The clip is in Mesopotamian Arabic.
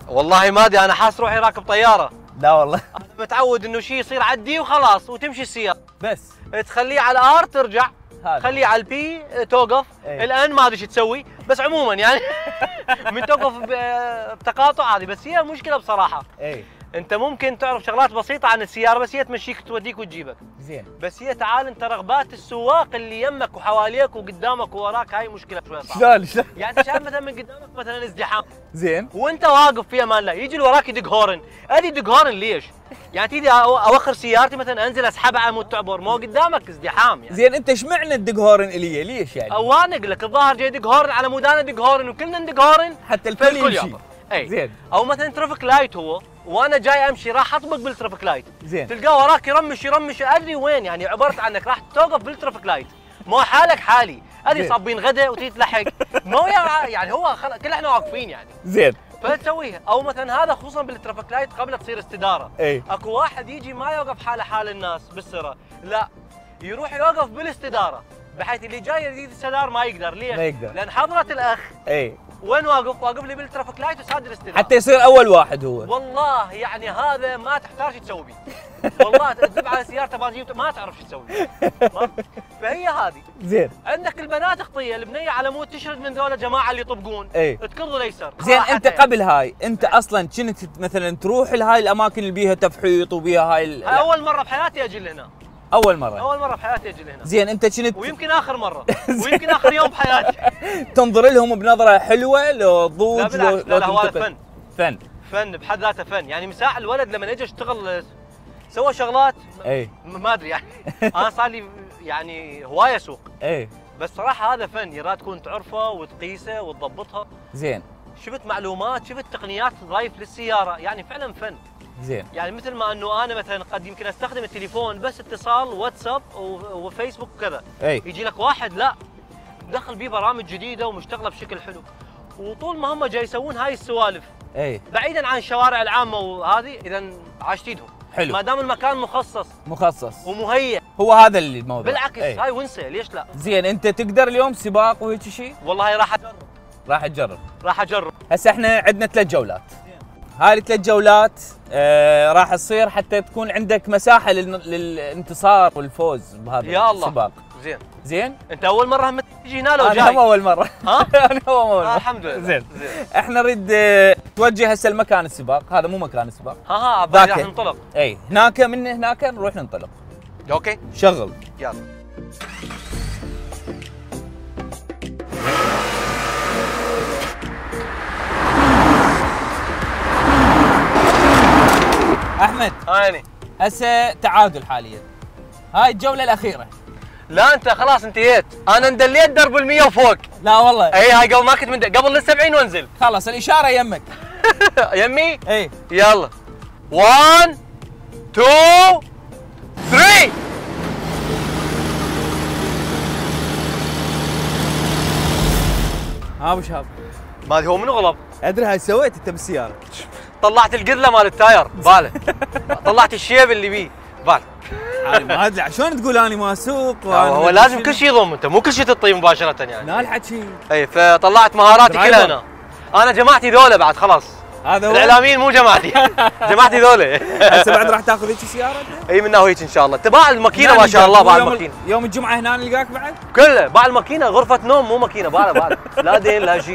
والله ما ادري، انا حاس روحي راكب طياره. لا والله انا متعود انه شيء يصير عدي وخلاص وتمشي السياره، بس تخليه على الار ترجع، هذا. خليه على البي توقف. الان ما ادري شو تسوي، بس عموما يعني من توقف بتقاطع هذه. بس هي مشكله بصراحه. انت ممكن تعرف شغلات بسيطه عن السياره، بس هي تمشيك توديك وتجيبك. زين. بس هي تعال انت رغبات السواق اللي يمك وحواليك وقدامك ووراك، هاي مشكله شوي صعبه. شلون؟ يعني انت شايف مثلا من قدامك مثلا ازدحام، زين، وانت واقف في امان الله، يجي اللي وراك يدق هورن. ادي دق هورن ليش؟ يعني تيجي اوخر سيارتي مثلا، انزل اسحبها على مود تعبر، ما قدامك ازدحام يعني. زين انت ايش معنى تدق هورن الي؟ ليش يعني؟ اوانق لك الظاهر جاي يدق هورن على مود انا ادق هورن وكلنا ندق هورن حتى الكل يمشي. اي زين. او مثلا ترافيك لايت هو، وانا جاي امشي راح اطبق بالترافيك لايت. زين. تلقاه وراك يرمش ادري وين، يعني عبرت عنك راح توقف بالترافيك لايت، مو حالك حالي، ادري صابين غدا وتيجي تلحق، مو يعني هو كل احنا واقفين يعني. زين. فتسويها. او مثلا هذا خصوصا بالترافيك لايت قبل تصير استداره. اكو واحد يجي ما يوقف حاله حال الناس بالسرة، لا يروح يوقف بالاستداره، بحيث اللي جاي يريد السدار ما يقدر. ليش؟ ما يقدر. لان حضرة الاخ وين واقف؟ واقف لي بالترافيك لايت وساد الاستداره، حتى يصير اول واحد هو. والله يعني هذا ما تحتاج تسوي بيه. والله تذب على سيارته ما تعرف شو تسوي. فهي هذه. زين. عندك البنات خطيه، البنيه على مود تشرد من ذول الجماعه اللي يطبقون، تكرضوا ليسر. زين انت قبل هاي انت اصلا كنت مثلا تروح لهاي الاماكن اللي بيها تفحيط وبيها هاي اول مره بحياتي اجي لهنا. اول مره بحياتي اجي لهنا. زين انت كنت، ويمكن اخر مره ويمكن اخر يوم بحياتي. تنظر لهم بنظره حلوه لو ضوج لو لا هو فن بحد ذاته فن. يعني مساع الولد لما اجى اشتغل سوى شغلات ما ادري يعني. انا صار لي يعني هوايه اسوق، بس صراحه هذا فن يراد تكون تعرفه وتقيسه وتضبطها. زين. شفت معلومات، شفت تقنيات تضايف للسياره، يعني فعلا فن. زين. يعني مثل ما انه انا مثلا قد يمكن استخدم التليفون بس اتصال واتساب وفيسبوك وكذا، يجي لك واحد لا دخل بيه برامج جديده ومشتغله بشكل حلو، وطول ما هم جاي يسوون هاي السوالف بعيدا عن الشوارع العامه وهذه، اذا عاشت ايدهم حلو ما دام المكان مخصص ومهيئ. هو هذا اللي الموضوع بالعكس. هاي ونسه، ليش لا؟ زين انت تقدر اليوم سباق وهيك شيء؟ والله راح اجرب. هسه احنا عندنا 3 جولات. هاي ال3 جولات راح تصير حتى تكون عندك مساحه للانتصار والفوز بهذا يا السباق. الله. زين انت اول مره هم تجي هنا لو جاي؟ انا اول مره. ها؟ انا اول مره. الحمد لله. زين. احنا نريد توجه هسه المكان السباق، هذا مو مكان السباق. راح ننطلق. هناك من هناك نروح ننطلق. اوكي شغل. يلا. احمد هاني هسه تعادل حاليا، هاي الجوله الاخيره. لا انت خلاص انتهيت، انا اندليت درب ال100 وفوق. لا والله. هاي قبل ما كنت قبل ال70 وانزل. خلاص الاشاره يمك. يمي؟ يلا 1 2 3. ابو شهاب ما ادري هو منو غلط. ادري هاي سويت انت بالسياره. طلعت القذله مال التاير باله. طلعت الشيب اللي بيه باله. ما ادري شلون تقول انا ما اسوق. هو لازم كل شيء يضم، انت مو كل شيء تطيب مباشره يعني. لا الحكي. فطلعت مهاراتي كلها هنا. انا جماعتي ذولا بعد خلاص. هذا هو الاعلاميين مو جماعتي. جماعتي ذولا. هسه بعد راح تاخذ هيك سياره انت؟ اي منها هيك ان شاء الله. تباع الماكينه ما شاء الله. باع الماكينه يوم الجمعه هنا نلقاك بعد؟ كله باع الماكينه، غرفه نوم مو ماكينه، باع لا دين لا شيء.